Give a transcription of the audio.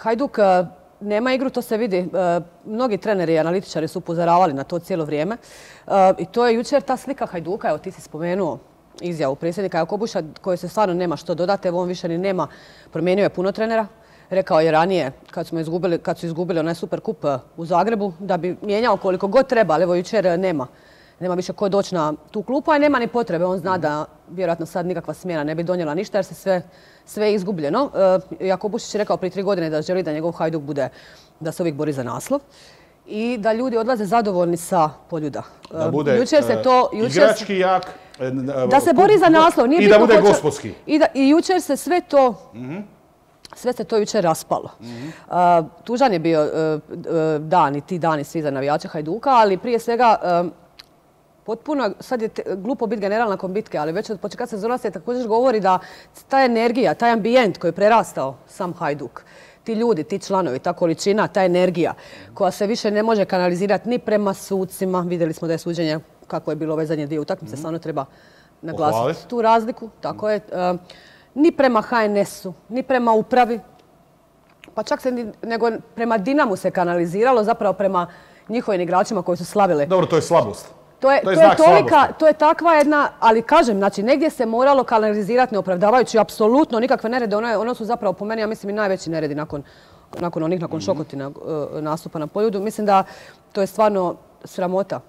Hajduk nema igru, to se vidi. Mnogi treneri i analitičari su upozoravali na to cijelo vrijeme. I to je jučer ta slika Hajduka, evo ti si spomenuo izjavu predsjednika Jakobuša, koje se stvarno nema što dodati. Evo on više ni nema, promijenio je puno trenera. Rekao je ranije, kad su izgubili onaj super kup u Zagrebu, da bi mijenjao koliko god treba, ali evo jučer nema više ko doći na tu klupu, a nema ni potrebe. On zna da vjerojatno sad nikakva smjena ne bi donijela ništa jer se sve izgubljeno. Jakobušić je rekao prije 3 godine da želi da njegov Hajduk bude, da se uvijek bori za naslov i da ljudi odlaze zadovoljni sa Poljuda. Da bude igrački jak, da se bori za naslov. I da bude gospodski. I jučer se sve to... Sve se to jučer raspalo. Tužan je bio dan i ti dani svi za navijače Hajduka, ali prije svega potpuno, sad je glupo biti general nakon bitke, ali već od početka sezona se također govori da ta energija, taj ambijent koji je prerastao sam Hajduk, ti ljudi, ti članovi, ta količina, ta energija koja se više ne može kanalizirati ni prema sucima. Vidjeli smo da je suđenje, kako je bilo ove zadnje 2 utakmice, stvarno treba naglasiti tu razliku. Tako je. Ni prema HNS-u, ni prema upravi, pa čak se nego prema Dinamu se kanaliziralo, zapravo prema njihovim igračima koji su slavili. Dobro, to je slabost. To je takva jedna, ali kažem, znači negdje se moralo kanalizirati neopravdavajući apsolutno nikakve nerede. Ono su zapravo po meni, ja mislim, i najveći neredi nakon Šokotina nastupa na Poljudu. Mislim da to je stvarno sramota.